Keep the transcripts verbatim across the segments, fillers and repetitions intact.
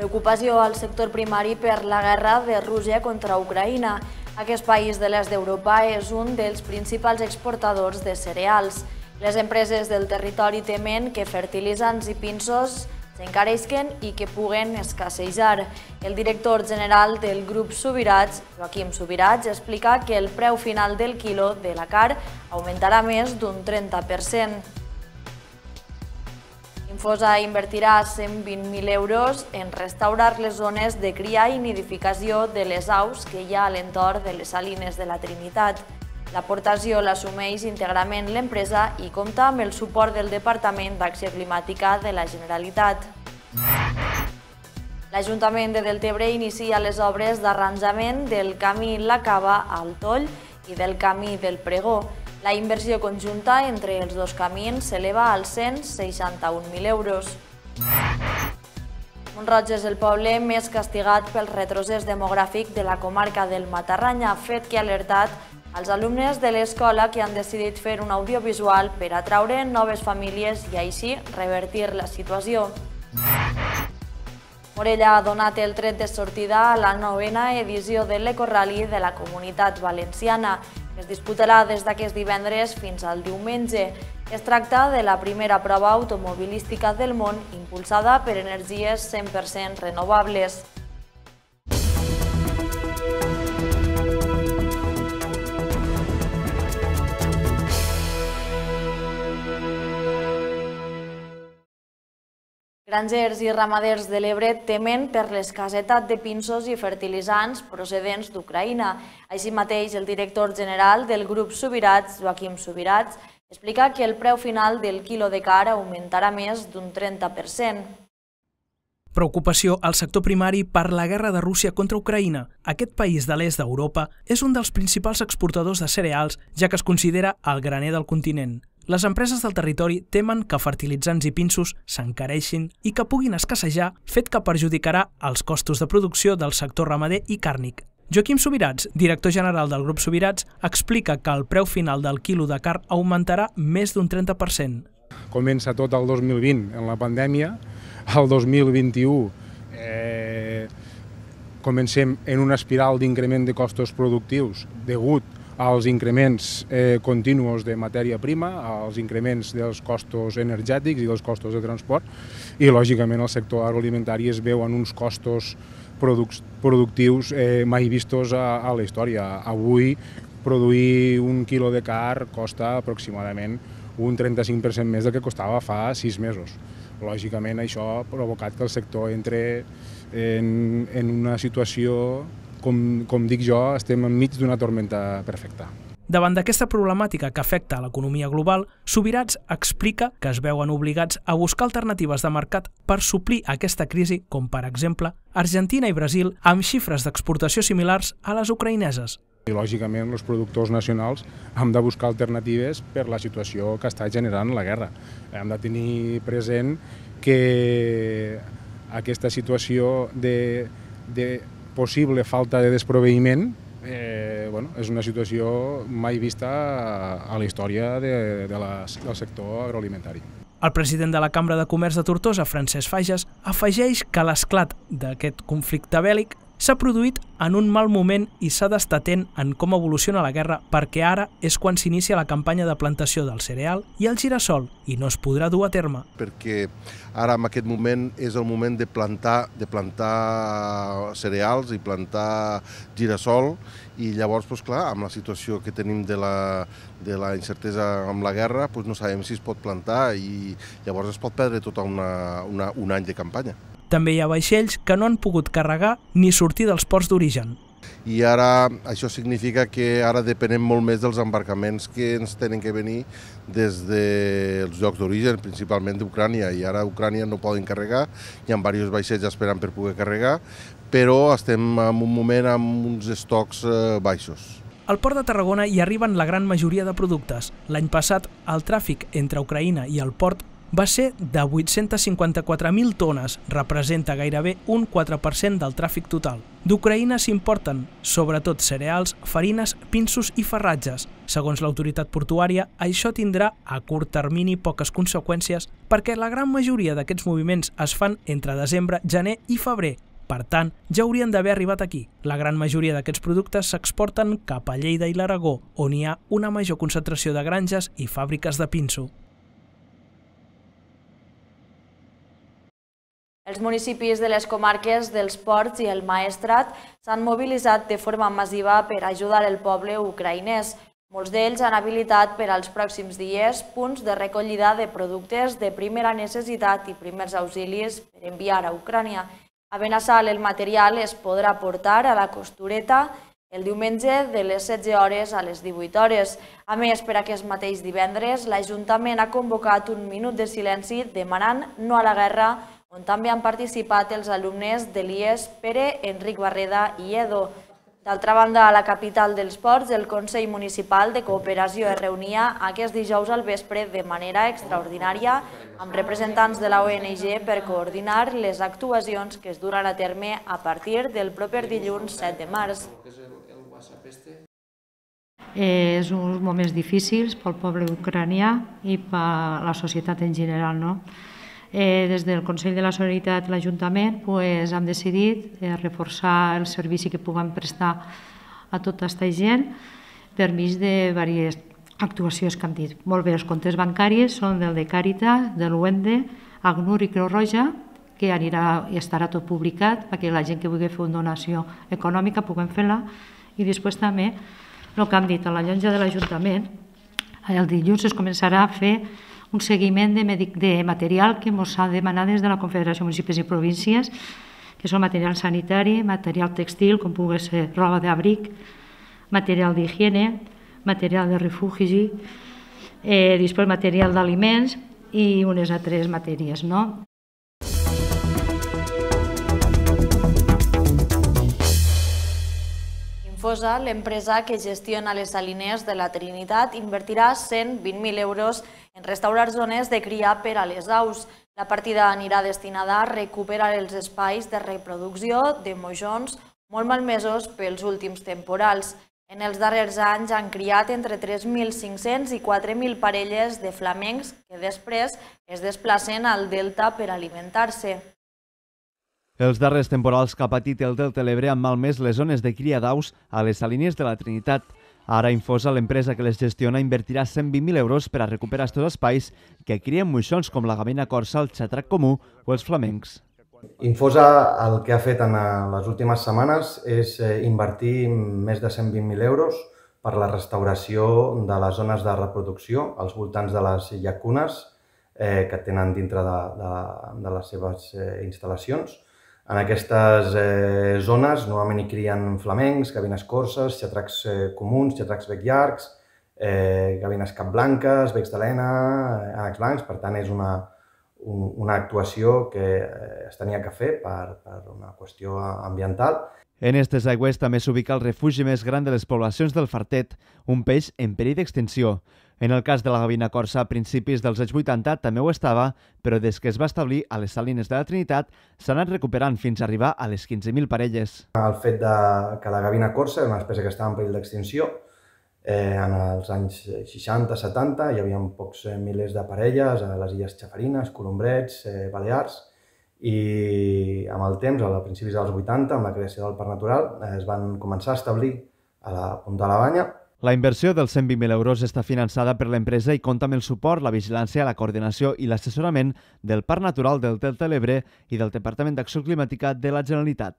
Preocupació al sector primari per la guerra de Rússia contra Ucraïna. Aquest país de l'est d'Europa és un dels principals exportadors de cereals. Les empreses del territori temen que fertilitzants i pinsos s'encareixen i que puguen escassejar. El director general del grup Subirats, Joaquim Subirats, explica que el preu final del quilo de la carn augmentarà més d'un trenta per cent. Infosa invertirà cent vint mil euros en restaurar les zones de cria i nidificació de les aus que hi ha a l'entorn de les salines de la Trinitat. L'aportació l'assumeix íntegrament l'empresa i compta amb el suport del Departament d'Acció Climàtica de la Generalitat. L'Ajuntament de Deltebre inicia les obres d'arranjament del camí La Cava al Toll i del camí del Pregó. La inversió conjunta entre els dos camins s'eleva als cent seixanta-un mil euros. Mont-roig és el poble més castigat pel retrocés demogràfic de la comarca del Matarranya, fet que ha alertat als alumnes de l'escola que han decidit fer un audiovisual per atraure noves famílies i així revertir la situació. Morella ha donat el tret de sortida a la novena edició de l'Ecorrally de la Comunitat Valenciana, que es disputarà des d'aquest divendres fins al diumenge. Es tracta de la primera prova automobilística del món impulsada per energies cent per cent renovables. Grangers i ramaders de l'Ebre temen per l'escassetat de pinsos i fertilitzants procedents d'Ucraïna. Així mateix, el director general del grup Subirats, Joaquim Subirats, explica que el preu final del quilo de carn augmentarà més d'un trenta per cent. Preocupació al sector primari per la guerra de Rússia contra Ucraïna. Aquest país de l'est d'Europa és un dels principals exportadors de cereals, ja que es considera el graner del continent. Les empreses del territori temen que fertilitzants i pinsos s'encareixin i que puguin escassejar, fet que perjudicarà els costos de producció del sector ramader i càrnic. Joaquim Subirats, director general del grup Subirats, explica que el preu final del quilo de carn augmentarà més d'un trenta per cent. Comença tot el dos mil vint en la pandèmia, el dos mil vint-i-u eh, comencem en una espiral d'increment de costos productius degut als increments eh, continus de matèria prima, als increments dels costos energètics i dels costos de transport i, lògicament, el sector agroalimentari es veu en uns costos produc productius eh, mai vistos a, a la història. Avui, produir un quilo de carn costa aproximadament un trenta-cinc per cent més del que costava fa sis mesos. Lògicament, això ha provocat que el sector entre en, en una situació Com, com dic jo, estem enmig d'una tormenta perfecta. Davant d'aquesta problemàtica que afecta a l'economia global, Subirats explica que es veuen obligats a buscar alternatives de mercat per suplir aquesta crisi, com per exemple Argentina i Brasil, amb xifres d'exportació similars a les ucraïneses. I, lògicament, els productors nacionals hem de buscar alternatives per la situació que està generant la guerra. Hem de tenir present que aquesta situació de, de possible falta de desproveïment eh, bueno, és una situació mai vista a, a la història de, de la, del sector agroalimentari. El president de la Cambra de Comerç de Tortosa, Francesc Fages, afegeix que l'esclat d'aquest conflicte bèl·lic s'ha produït en un mal moment i s'ha d'estar atent en com evoluciona la guerra perquè ara és quan s'inicia la campanya de plantació del cereal i el girassol i no es podrà dur a terme. Perquè ara en aquest moment és el moment de plantar, de plantar cereals i plantar girassol i llavors, doncs, clar, amb la situació que tenim de la, de la incertesa amb la guerra, doncs no sabem si es pot plantar i llavors es pot perdre tot una, una, un any de campanya. També hi ha vaixells que no han pogut carregar ni sortir dels ports d'origen. I ara això significa que ara depenem molt més dels embarcaments que ens tenen que venir des dels llocs d'origen, principalment d'Ucrània, i ara a Ucrània no poden carregar, hi ha diversos vaixells esperant per poder carregar, però estem en un moment amb uns estocs baixos. Al port de Tarragona hi arriben la gran majoria de productes. L'any passat, el tràfic entre Ucraïna i el port va ser de vuit-centes cinquanta-quatre mil tones, representa gairebé un quatre per cent del tràfic total. D'Ucraïna s'importen, sobretot cereals, farines, pinsos i farratges. Segons l'autoritat portuària, això tindrà a curt termini poques conseqüències perquè la gran majoria d'aquests moviments es fan entre desembre, gener i febrer. Per tant, ja haurien d'haver arribat aquí. La gran majoria d'aquests productes s'exporten cap a Lleida i l'Aragó, on hi ha una major concentració de granges i fàbriques de pinso. Els municipis de les comarques dels Ports i el Maestrat s'han mobilitzat de forma massiva per ajudar el poble ucraïnès. Molts d'ells han habilitat per als pròxims dies punts de recollida de productes de primera necessitat i primers auxilis per enviar a Ucrània. A Benassal el material es podrà portar a la Costureta el diumenge de les setze hores a les divuit hores. A més, per aquest mateix divendres, l'Ajuntament ha convocat un minut de silenci demanant no a la guerra, on també han participat els alumnes de l'I E S Pere, Enric Barreda i Edo. D'altra banda, a la capital dels Ports, el Consell Municipal de Cooperació es reunia aquest dijous al vespre de manera extraordinària amb representants de la O N G per coordinar les actuacions que es duran a terme a partir del proper dilluns set de març. És uns moments difícils pel poble ucranià i per la societat en general, no? Eh, des del Consell de la Solidaritat i l'Ajuntament pues, hem decidit eh, reforçar el servici que puguem prestar a tota aquesta gent per mig de diverses actuacions que hem dit. Molt bé, els comptes bancaris són del de Càritas, del U E N D E, ACNUR i Creu Roja, que anirà i estarà tot publicat perquè la gent que vulgui fer una donació econòmica puguem fer-la. I després també el que hem dit a la llotja de l'Ajuntament, el dilluns es començarà a fer un seguiment de, de material que ens ha demanat des de la Confederació de Municipis i Províncies, que són material sanitari, material textil, com pugui ser roba d'abric, material d'higiene, material de refugi, eh, després material d'aliments i unes altres matèries, no? Infosa, l'empresa que gestiona les salines de la Trinitat, invertirà cent vint mil euros en restaurar zones de cria per a les aus. La partida anirà destinada a recuperar els espais de reproducció de mojons molt malmesos pels últims temporals. En els darrers anys han criat entre tres mil cinc-cents i quatre mil parelles de flamencs que després es desplacen al delta per alimentar-se. Els darrers temporals que ha patit el Delta de l'Ebre han malmès les zones de cria d'aus a les salines de la Trinitat. Ara Infosa, l'empresa que les gestiona, invertirà cent vint mil euros per a recuperar aquests espais que crien moixons com la gavina corsa, el xatrac comú o els flamencs. Infosa el que ha fet en les últimes setmanes és invertir més de cent vint mil euros per la restauració de les zones de reproducció als voltants de les llacunes que tenen dintre de les seves instal·lacions. En aquestes eh, zones normalment hi crien flamencs, gavines corses, xatracs eh, comuns, xatracs bec llargs, eh, gavines capblanques, becs de lena, eh, ànecs blancs. Per tant, és una, un, una actuació que eh, es tenia que fer per, per una qüestió ambiental. En aquestes aigües també s'ubica el refugi més gran de les poblacions del fartet, un peix en perill d'extinció. En el cas de la gavina corsa, a principis dels anys vuitanta també ho estava, però des que es va establir a les salines de la Trinitat s'ha anat recuperant fins a arribar a les quinze mil parelles. El fet de que la gavina corsa era una espècie que estava en perill d'extinció, eh, en els anys seixanta setanta hi havia pocs eh, milers de parelles a les illes Xafarines, Colombrets, eh, Balears, i amb el temps, a principis dels vuitanta, amb la creació del Parc Natural, eh, es van començar a establir a la Punta de la Banya. La inversió dels cent vint mil euros està finançada per l'empresa i compta amb el suport, la vigilància, la coordinació i l'assessorament del Parc Natural del Delta de l'Ebre i del Departament d'Acció Climàtica de la Generalitat.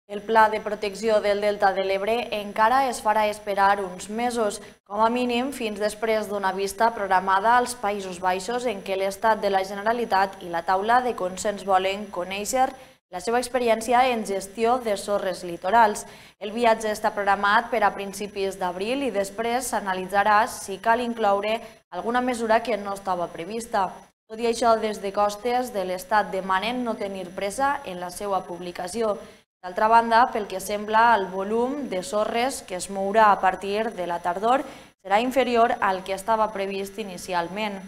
El Pla de Protecció del Delta de l'Ebre encara es farà esperar uns mesos, com a mínim fins després d'una vista programada als Països Baixos en què l'Estat de la Generalitat i la taula de consens volen conèixer la seva experiència en gestió de sorres litorals. El viatge està programat per a principis d'abril i després s'analitzarà si cal incloure alguna mesura que no estava prevista. Tot i això, des de Costes de l'Estat demanen no tenir pressa en la seva publicació. D'altra banda, pel que sembla, el volum de sorres que es mourà a partir de la tardor serà inferior al que estava previst inicialment.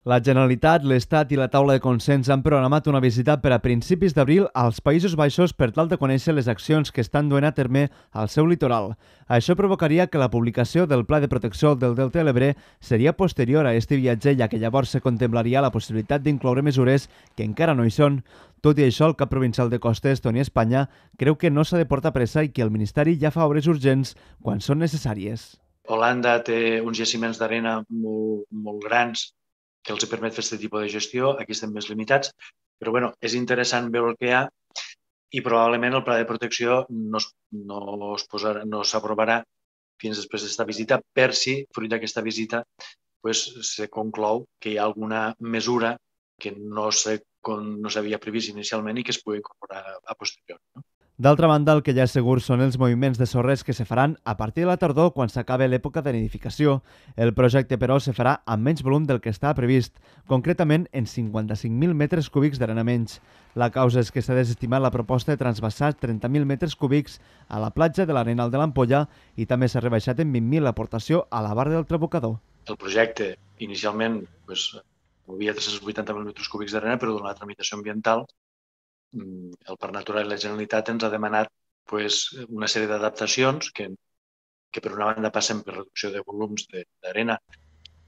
La Generalitat, l'Estat i la taula de consens han programat una visita per a principis d'abril als Països Baixos per tal de conèixer les accions que estan duent a terme al seu litoral. Això provocaria que la publicació del Pla de Protecció del Delta de l'Ebre seria posterior a este viatge, ja que llavors se contemplaria la possibilitat d'incloure mesures que encara no hi són. Tot i això, el cap provincial de Costes, Toni Espanya, creu que no s'ha de portar pressa i que el Ministeri ja fa obres urgents quan són necessàries. Holanda té uns jaciments d'arena molt, molt grans que els permet fer aquest tipus de gestió, aquí estem més limitats, però bueno, és interessant veure el que hi ha i probablement el pla de protecció no, es, no, es posarà, no s'aprovarà fins després d'aquesta visita, per si, fruit d'aquesta visita, pues, se conclou que hi ha alguna mesura que no s'havia previst inicialment i que es pugui incorporar a posterior. No? D'altra banda, el que ja és segur són els moviments de sorres que se faran a partir de la tardor quan s'acabe l'època de nidificació. El projecte, però, se farà amb menys volum del que estava previst, concretament en cinquanta-cinc mil metres cúbics d'arena menys. La causa és que s'ha desestimat la proposta de transvasar trenta mil metres cúbics a la platja de l'Arenal de l'Ampolla i també s'ha rebaixat en vint mil l'aportació a la barra del Trabucador. El projecte, inicialment, pues, movia tres-cents vuitanta mil metres cúbics d'arena, però durant la tramitació ambiental el Parc Natural i la Generalitat ens ha demanat pues, una sèrie d'adaptacions que, que per una banda passen per reducció de volums d'arena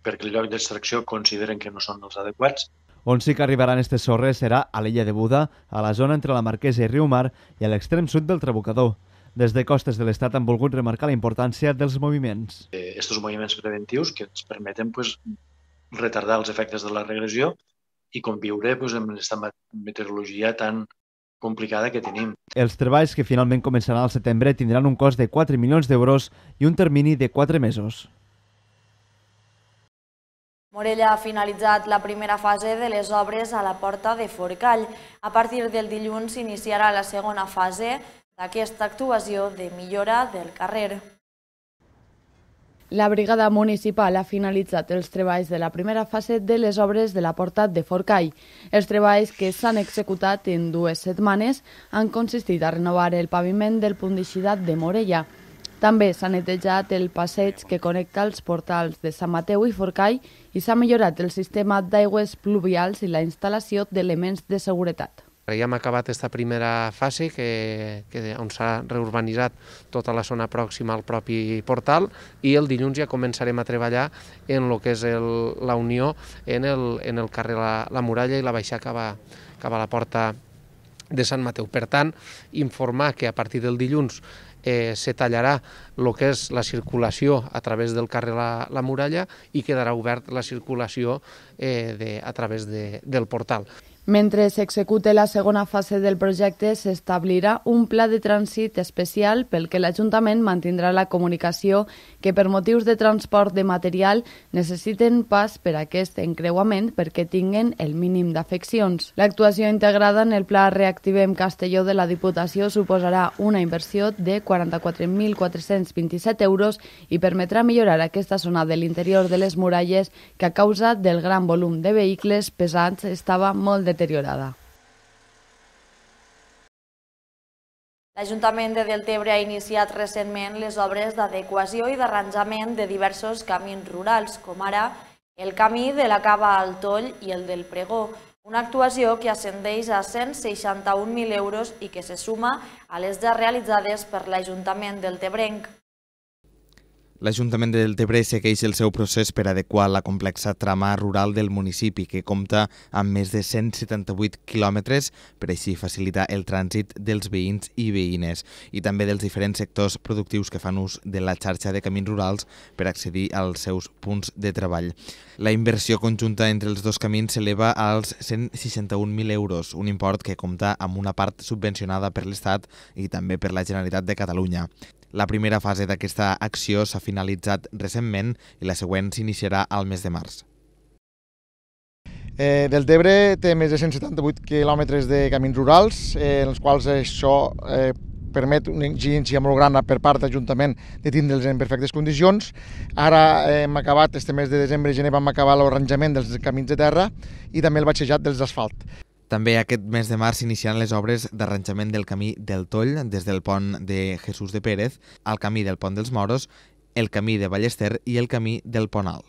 perquè el lloc d'extracció consideren que no són els adequats. On sí que arribaran aquestes sorres serà a l'illa de Buda, a la zona entre la Marquesa i Riumar i a l'extrem sud del Trabucador. Des de Costes de l'Estat han volgut remarcar la importància dels moviments. Aquests eh, moviments preventius que ens permeten pues, retardar els efectes de la regressió i conviure pues, amb aquesta meteorologia tan complicada que tenim. Els treballs que finalment començaran al setembre tindran un cost de quatre milions d'euros i un termini de quatre mesos. Morella ha finalitzat la primera fase de les obres a la Porta de Forcall. A partir del dilluns s'iniciarà la segona fase d'aquesta actuació de millora del carrer. La brigada municipal ha finalitzat els treballs de la primera fase de les obres de la Porta de Forcall. Els treballs que s'han executat en dues setmanes han consistit a renovar el paviment del punt d'eixida de Morella. També s'ha netejat el passeig que connecta els portals de Sant Mateu i Forcall i s'ha millorat el sistema d'aigües pluvials i la instal·lació d'elements de seguretat. Ja hem acabat aquesta primera fase que, que, on s'ha reurbanitzat tota la zona pròxima al propi portal i el dilluns ja començarem a treballar en el que és el, la unió en el, en el carrer la, la Muralla i la baixar cap a, cap a la porta de Sant Mateu. Per tant, informar que a partir del dilluns eh, se tallarà el que és la circulació a través del carrer la, la Muralla i quedarà obert la circulació eh, de, a través de, del portal. Mentre s'execute la segona fase del projecte, s'establirà un pla de trànsit especial pel que l'Ajuntament mantindrà la comunicació que per motius de transport de material necessiten pas per aquest encreuament perquè tinguen el mínim d'afeccions. L'actuació integrada en el Pla Reactivem Castelló de la Diputació suposarà una inversió de quaranta-quatre mil quatre-cents vint-i-set euros i permetrà millorar aquesta zona de l'interior de les muralles que a causa del gran volum de vehicles pesants estava molt deteriorada. deteriorada. L'Ajuntament de Deltebre ha iniciat recentment les obres d'adequació i d'arranjament de diversos camins rurals, com ara el camí de la Cava al Toll i el del Pregó, una actuació que ascendeix a cent seixanta-un mil euros i que se suma a les ja realitzades per l'Ajuntament deltebrenc. L'Ajuntament de Deltebre segueix el seu procés per adequar la complexa trama rural del municipi, que compta amb més de cent setanta-vuit quilòmetres per així facilitar el trànsit dels veïns i veïnes i també dels diferents sectors productius que fan ús de la xarxa de camins rurals per accedir als seus punts de treball. La inversió conjunta entre els dos camins s'eleva als cent seixanta-un mil euros, un import que compta amb una part subvencionada per l'Estat i també per la Generalitat de Catalunya. La primera fase d'aquesta acció s'ha finalitzat recentment i la següent s'iniciarà al mes de març. Eh, Deltebre té més de cent setanta-vuit quilòmetres de camins rurals, eh, en els quals això eh, permet una exigència molt gran per part de l'Ajuntament de tindre'ls en perfectes condicions. Ara eh, hem acabat, este mes de desembre i gener vam acabar l'arranjament dels camins de terra i també el batxejat dels asfalt. També aquest mes de març s'iniciaran les obres d'arranjament del camí del Toll des del pont de Jesús de Pérez al camí del pont dels Moros el camí de Ballester i el camí del Pont Alt.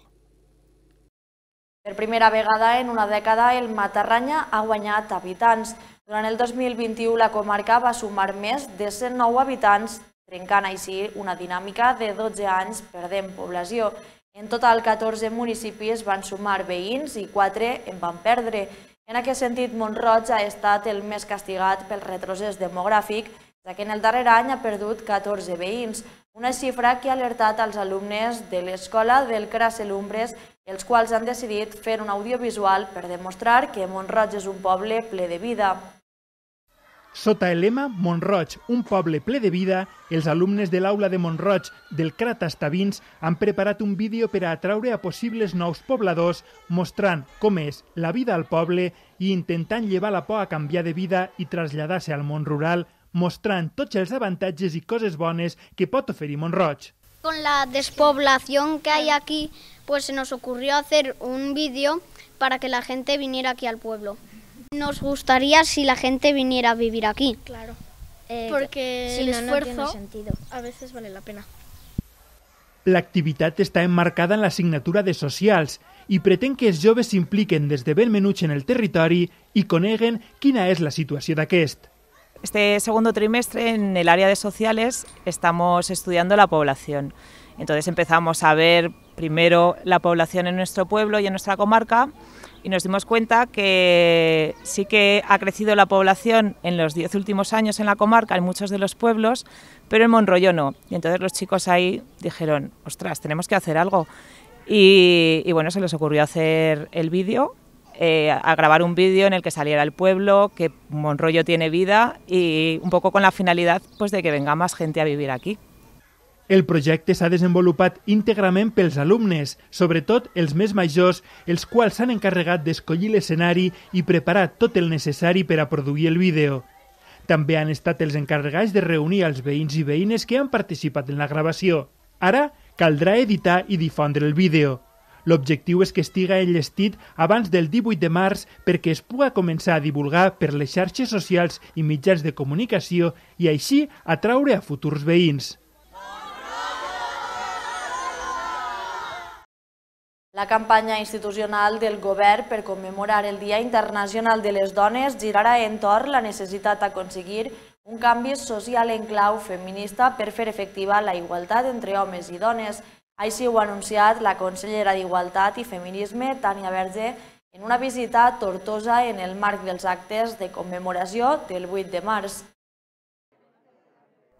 Per primera vegada en una dècada, el Matarranya ha guanyat habitants. Durant el dos mil vint-i-u, la comarca va sumar més de cent nou habitants, trencant així una dinàmica de dotze anys perdent població. En total, catorze municipis van sumar veïns i quatre en van perdre. En aquest sentit, Mont-roig ha estat el més castigat pel retrocés demogràfic, ja que en el darrer any ha perdut catorze veïns, una xifra que ha alertat als alumnes de l'escola del Cracelumbres, els quals han decidit fer un audiovisual per demostrar que Mont-roig és un poble ple de vida. Sota el lema Mont-roig, un poble ple de vida, els alumnes de l'aula de Mont-roig del Crat Estavins han preparat un vídeo per a atraure a possibles nous pobladors, mostrant com és la vida al poble i intentant llevar la por a canviar de vida i traslladar-se al món rural, mostrant tots els avantatges y cosas bones que pot oferir Mont-roig. Con la despoblación que hay aquí, pues se nos ocurrió hacer un vídeo para que la gente viniera aquí al pueblo. Nos gustaría si la gente viniera a vivir aquí. Claro, eh, porque si el no, esfuerzo no tiene sentido. A veces vale la pena. L'activitat està emmarcada en l'assignatura de socials i pretén que els joves s'impliquen des de ben menuts en el territori i coneguen quina és la situació d'aquest. Este segundo trimestre en el área de sociales estamos estudiando la población. Entonces empezamos a ver primero la población en nuestro pueblo y en nuestra comarca y nos dimos cuenta que sí que ha crecido la población en los diez últimos años en la comarca, en muchos de los pueblos, pero en Monroyo no. Y entonces los chicos ahí dijeron, ostras, tenemos que hacer algo. Y, y bueno, se les ocurrió hacer el vídeo. Eh, a gravar un vídeo en el que saliera el pueblo, que Monroyo tiene vida y un poco con la finalidad pues, de que venga más gente a vivir aquí. El projecte s'ha desenvolupat íntegrament pels alumnes, sobretot els més majors, els quals s'han encarregat d'escollir l'escenari i preparar tot el necessari per a produir el vídeo. També han estat els encarregats de reunir els veïns i veïnes que han participat en la gravació. Ara caldrà editar i difondre el vídeo. L'objectiu és que estiga enllestit abans del divuit de març perquè es pugui començar a divulgar per les xarxes socials i mitjans de comunicació i així atraure a futurs veïns. La campanya institucional del govern per commemorar el Dia Internacional de les Dones girarà entorn la necessitat d'aconseguir un canvi social en clau feminista per fer efectiva la igualtat entre homes i dones. Així ho ha anunciat la consellera d'Igualtat i Feminisme, Tània Verge, en una visita a Tortosa en el marc dels actes de commemoració del vuit de març.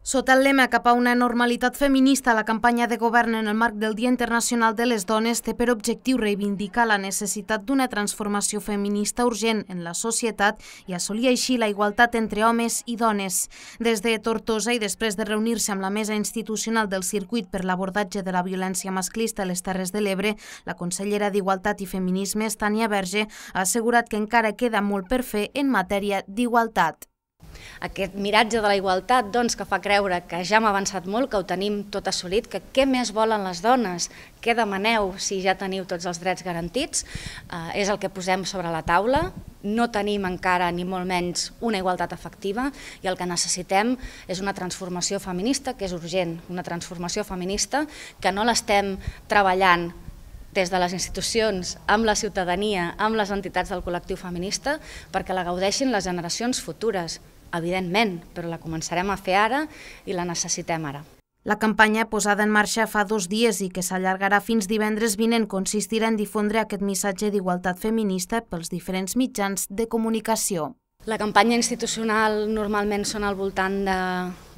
Sota el lema cap a una normalitat feminista, la campanya de govern en el marc del Dia Internacional de les Dones té per objectiu reivindicar la necessitat d'una transformació feminista urgent en la societat i assolir així la igualtat entre homes i dones. Des de Tortosa i després de reunir-se amb la mesa institucional del circuit per l'abordatge de la violència masclista a les Terres de l'Ebre, la consellera d'Igualtat i Feminismes, Tània Verge, ha assegurat que encara queda molt per fer en matèria d'igualtat. Aquest miratge de la igualtat doncs, que fa creure que ja hem avançat molt, que ho tenim tot assolit, que què més volen les dones, què demaneu si ja teniu tots els drets garantits, eh, és el que posem sobre la taula. No tenim encara ni molt menys una igualtat efectiva i el que necessitem és una transformació feminista que és urgent, una transformació feminista que no l'estem treballant des de les institucions, amb la ciutadania, amb les entitats del col·lectiu feminista, perquè la gaudeixin les generacions futures, evidentment, però la començarem a fer ara i la necessitem ara. La campanya posada en marxa fa dos dies i que s'allargarà fins divendres vinent consistirà en difondre aquest missatge d'igualtat feminista pels diferents mitjans de comunicació. La campanya institucional normalment són al voltant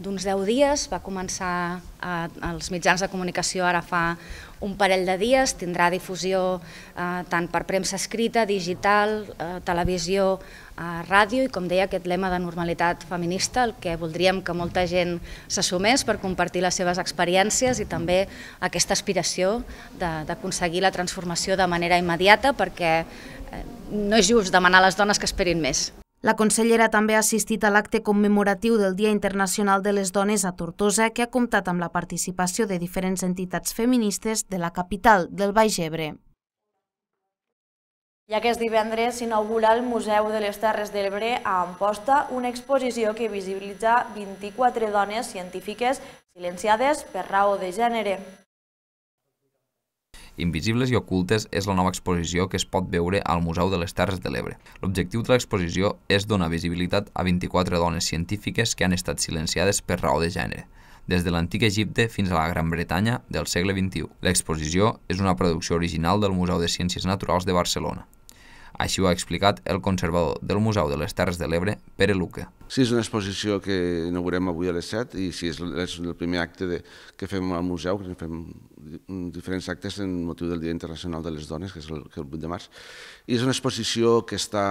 d'uns deu dies, va començar als mitjans de comunicació ara fa un parell de dies, tindrà difusió eh, tant per premsa escrita, digital, eh, televisió, eh, ràdio i com deia aquest lema de normalitat feminista, el que voldríem que molta gent s'assumés per compartir les seves experiències i també aquesta aspiració d'aconseguir la transformació de manera immediata perquè eh, no és just demanar a les dones que esperin més. La consellera també ha assistit a l'acte commemoratiu del Dia Internacional de les Dones a Tortosa, que ha comptat amb la participació de diferents entitats feministes de la capital del Baix Ebre. I aquest divendres s'inaugura al Museu de les Terres de l'Ebre a Amposta una exposició que visibilitza vint-i-quatre dones científiques silenciades per raó de gènere. Invisibles i ocultes és la nova exposició que es pot veure al Museu de les Terres de l'Ebre. L'objectiu de l'exposició és donar visibilitat a vint-i-quatre dones científiques que han estat silenciades per raó de gènere, des de l'antic Egipte fins a la Gran Bretanya del segle vint-i-u. L'exposició és una producció original del Museu de Ciències Naturals de Barcelona. Així ho ha explicat el conservador del Museu de les Terres de l'Ebre, Pere Luque. Sí, és una exposició que inaugurem avui a les set i sí, és el primer acte de, que fem al museu, que fem diferents actes en motiu del Dia Internacional de les Dones, que és el, que el vuit de març. I és una exposició que està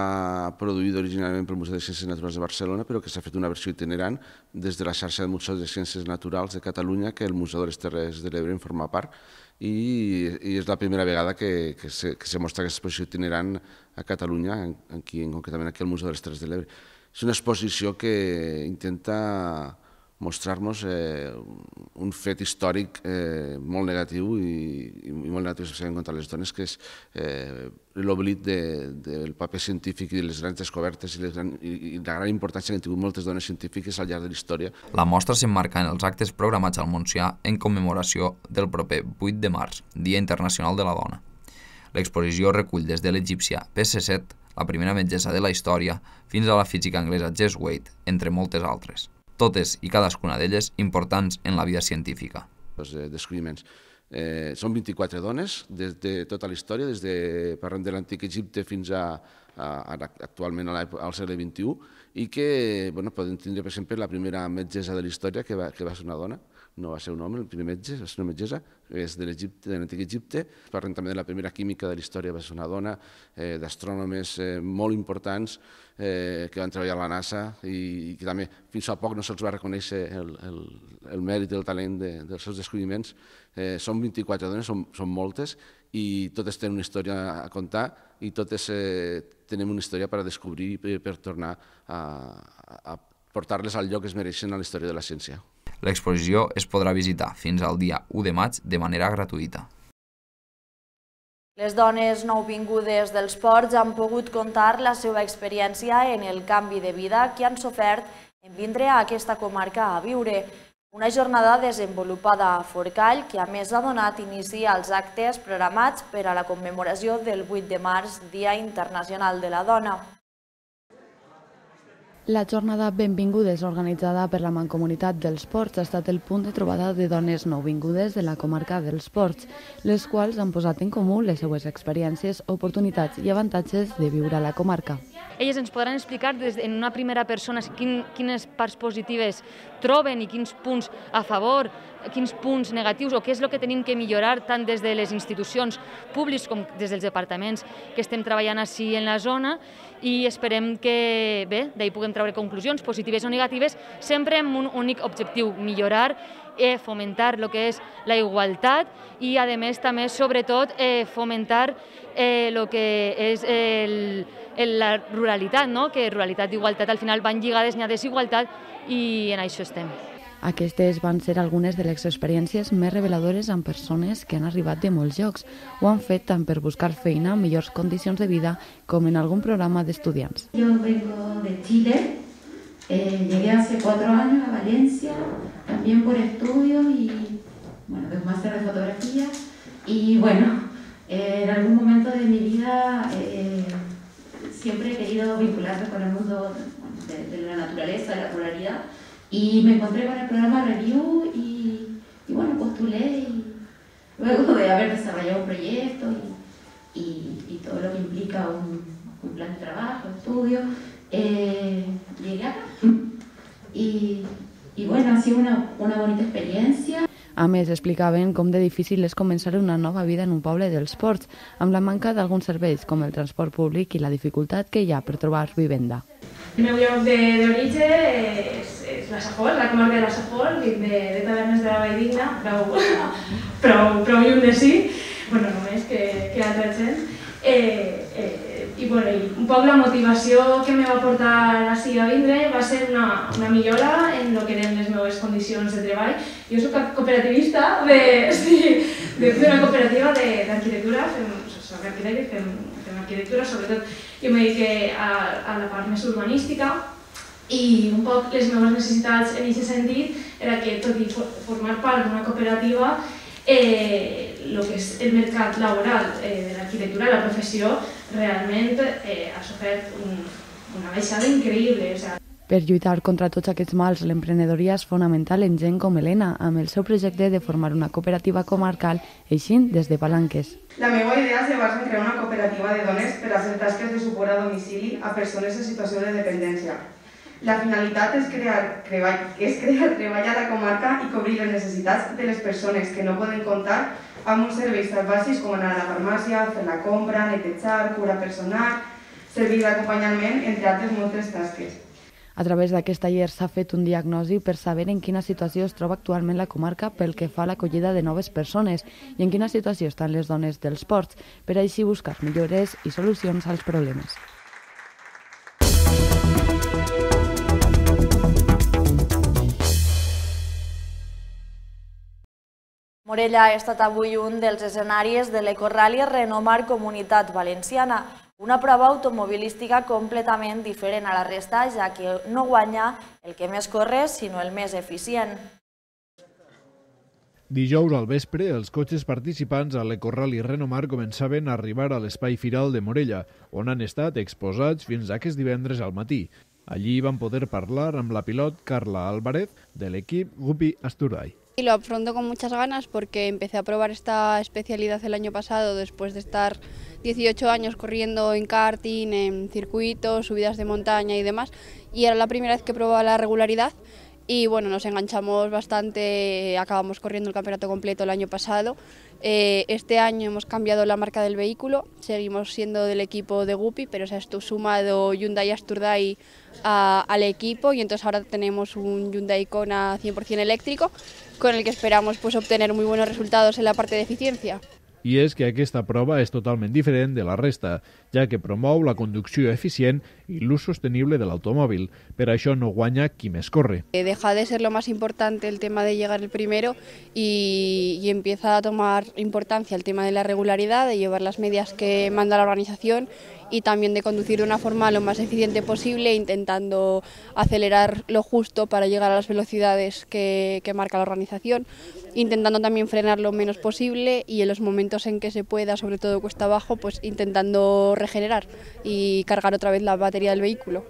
produïda originalment pel Museu de Ciències Naturals de Barcelona, però que s'ha fet una versió itinerant des de la xarxa de Museus de Ciències Naturals de Catalunya, que el Museu de les Terres de l'Ebre en forma part, i, i és la primera vegada que, que, se, que se mostra aquesta exposició itinerant a Catalunya, aquí, concretament aquí al Museu de les Terres de l'Ebre. És una exposició que intenta mostrar-nos eh, un fet històric eh, molt negatiu i, i molt negatiu especialment contra les dones, que és eh, l'oblit de, del paper científic i de les grans descobertes i, les gran, i, i la gran importància que han tingut moltes dones científiques al llarg de la història. La mostra s'emmarca en els actes programats al Montsià en commemoració del proper vuit de març, Dia Internacional de la Dona. L'exposició recull des de l'egípcia P C set, la primera metgessa de la història, fins a la física anglesa Jess Wade, entre moltes altres. Totes i cadascuna d'elles importants en la vida científica. Els descobriments. Eh, són vint-i-quatre dones des de tota la història, des de, parlem de l'antic Egipte fins a, a, a actualment al segle vint-i-u, i que bueno, podem tindre, per exemple, la primera metgessa de la història que va, que va ser una dona. No va ser un home, el primer metge, va ser una metgessa, és de l'Egipte, de l'antic Egipte. Parlem també de la primera química de la història, va ser una dona, eh, d'astrònomes eh, molt importants eh, que van treballar a la NASA i, i que també fins fa poc no se'ls va reconèixer el, el, el mèrit i el talent de, dels seus descobriments. Eh, són vint-i-quatre dones, són, són moltes, i totes tenen una història a contar i totes eh, tenen una història per a descobrir i per, per tornar a, a portar-les al lloc que es mereixen a la història de la ciència. L'exposició es podrà visitar fins al dia u de maig de manera gratuïta. Les dones nouvingudes dels ports han pogut contar la seva experiència en el canvi de vida que han sofert en vindre a aquesta comarca a viure. Una jornada desenvolupada a Forcall que a més ha donat inici als actes programats per a la commemoració del vuit de març, Dia Internacional de la Dona. La jornada Benvingudes, organitzada per la Mancomunitat dels Ports, ha estat el punt de trobada de dones nouvingudes de la comarca dels Ports, les quals han posat en comú les seues experiències, oportunitats i avantatges de viure a la comarca. Elles ens podran explicar des, en una primera persona quin, quines parts positives troben i quins punts a favor, quins punts negatius o què és el que tenim que millorar tant des de les institucions públiques com des dels departaments que estem treballant així en la zona, i esperem que bé, d'ahir puguem treure conclusions positives o negatives, sempre amb un únic objectiu, millorar, eh, fomentar el que és la igualtat i, a més, també, sobretot, eh, fomentar eh, el que és el, el, la ruralitat, no? Que ruralitat i igualtat al final van lligades, n'hi ha desigualtat i en això estem. Aquestes van ser algunes de les experiències més reveladores amb persones que han arribat de molts llocs. Ho han fet tant per buscar feina amb millors condicions de vida com en algún programa d'estudiants. Yo vengo de Chile, eh, llegué hace cuatro años a Valencia, también por estudios y bueno, de un máster de fotografía. Y bueno, eh, en algún momento de mi vida eh, siempre he querido vincularme con el mundo de, de la naturaleza, de la ruralidad. Y me encontré con el programa Review y, y bueno, postulé y luego de haber desarrollado un proyecto y, y, y todo lo que implica un, un plan de trabajo, estudio, eh, llegué acá. Y, y bueno, ha sido una, una bonita experiencia. A més, explicaven com de difícil és començar una nova vida en un poble dels ports, amb la manca d'alguns serveis com el transport públic i la dificultat que hi ha per trobar vivenda. El meu lloc d'origen és, és la Safor, la comarca de la Safor, de, de Tavernes de la Valldigna, prou, prou, prou lluny de sí, bueno, només que, que a tres-cents. Eh, eh, i, bueno, I un poc la motivació que me va portar així a vindre va ser una, una millora en el que eren les meves condicions de treball. Jo soc cooperativista d'una sí, cooperativa d'arquitectura, soc arquitecte, fem, fem arquitectura, sobretot jo me dediqué a, a la part més urbanística i un poc les meves necessitats en aquest sentit era que, tot i formar part d'una cooperativa, eh, el que és el mercat laboral de l'arquitectura, la professió, realment ha sofert una baixada increïble. Per lluitar contra tots aquests mals, l'emprenedoria és fonamental en gent com Helena, amb el seu projecte de formar una cooperativa comarcal, eixint des de Palanques. La meva idea se basa en crear una cooperativa de dones per a fer tasques de suport a domicili a persones en situació de dependència. La finalitat és crear, és crear treball a la comarca i cobrir les necessitats de les persones que no poden comptar amb uns serveis tan bàsics com anar a la farmàcia, fer la compra, netejar, cura personal, servir d'acompanyament, entre altres moltes tasques. A través d'aquest taller s'ha fet un diagnosi per saber en quina situació es troba actualment la comarca pel que fa a l'acollida de noves persones i en quina situació estan les dones dels ports, per així buscar millores i solucions als problemes. Morella ha estat avui un dels escenaris de l'Ecorrally Renomar Comunitat Valenciana, una prova automobilística completament diferent a la resta, ja que no guanya el que més corre, sinó el més eficient. Dijous al vespre, els cotxes participants a l'Ecorrally Renomar començaven a arribar a l'espai firal de Morella, on han estat exposats fins aquest divendres al matí. Allí van poder parlar amb la pilot Carla Álvarez de l'equip Guppy Asturdai. Y lo afronto con muchas ganas porque empecé a probar esta especialidad el año pasado después de estar dieciocho años corriendo en karting, en circuitos, subidas de montaña y demás, y era la primera vez que probaba la regularidad y bueno, nos enganchamos bastante, acabamos corriendo el campeonato completo el año pasado. Eh, este año hemos cambiado la marca del vehículo, seguimos siendo del equipo de Guppy, pero se ha sumado Hyundai Asturdai a, al equipo y entonces ahora tenemos un Hyundai Kona cien por cien eléctrico con el que esperamos pues, obtener muy buenos resultados en la parte de eficiencia. I és que aquesta prova és totalment diferent de la resta, ja que promou la conducció eficient i l'ús sostenible de l'automòvil. Per això no guanya qui més corre. Deja de ser lo más importante el tema de llegar el primero y, y empieza a tomar importancia el tema de la regularidad, de llevar las medias que manda la organización y también de conducir de una forma lo más eficiente posible, intentando acelerar lo justo para llegar a las velocidades que, que marca la organización, intentando también frenar lo menos posible y en los momentos en que se pueda, sobre todo cuesta abajo, pues intentando regenerar y cargar otra vez la batería del vehículo.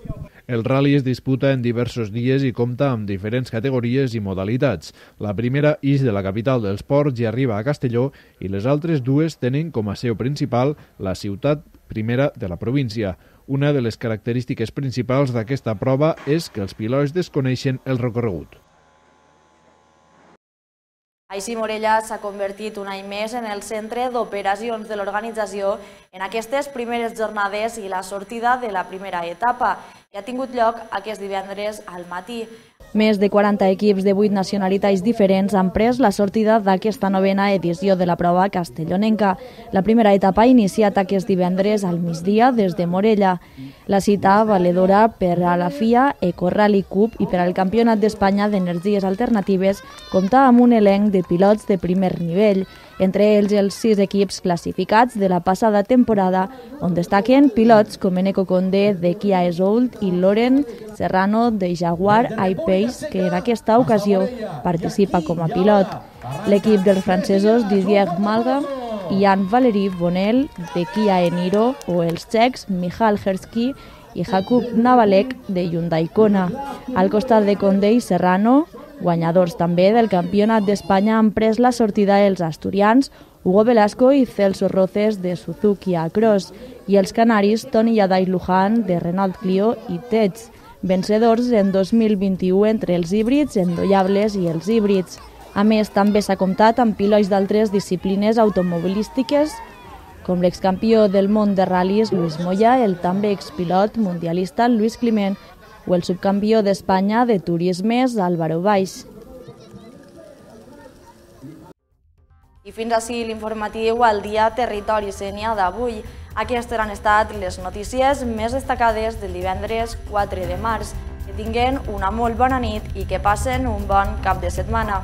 El rally es disputa en diversos dies i compta amb diferents categories i modalitats. La primera ix de la capital dels ports i arriba a Castelló i les altres dues tenen com a seu principal la ciutat primera de la província. Una de les característiques principals d'aquesta prova és que els pilots desconeixen el recorregut. Així, Morella s'ha convertit un any més en el centre d'operacions de l'organització en aquestes primeres jornades i la sortida de la primera etapa, que ha tingut lloc aquest divendres al matí. Més de quaranta equips de vuit nacionalitats diferents han pres la sortida d'aquesta novena edició de la prova castellonenca. La primera etapa ha iniciat aquest divendres al migdia des de Morella. La cita valedora per a la F I A, Ecorrally Cup i per al Campionat d'Espanya d'Energies Alternatives compta amb un elenc de pilots de primer nivell, entre ells els sis equips classificats de la passada temporada, on destaquen pilots com Eneco Condé de Kia Esoult i Loren Serrano de Jaguar I-Pace, que en aquesta ocasió participa com a pilot. L'equip dels francesos Didier Malga i Anne-Valérie Bonnel de Kia Eniro o els txecs Michal Hersky i Jakub Navalek de Hyundai Kona. Al costat de Condé i Serrano, guanyadors també del Campionat d'Espanya, han pres la sortida els asturians Hugo Velasco i Celso Roces de Suzuki Acros i els canaris Toni Yadai Luján de Renault Clio i Tets, vencedors en dos mil vint-i-u entre els híbrids endollables i els híbrids. A més, també s'ha comptat amb pilots d'altres disciplines automobilístiques, com l'excampió del món de ral·lis Luis Moya, el també expilot mundialista Luis Climent o el subcampió d'Espanya de turismes Álvaro Baix. I fins així l'informatiu al dia Territori Sénia d'avui. Aquestes han estat les notícies més destacades del divendres quatre de març. Que tinguen una molt bona nit i que passen un bon cap de setmana.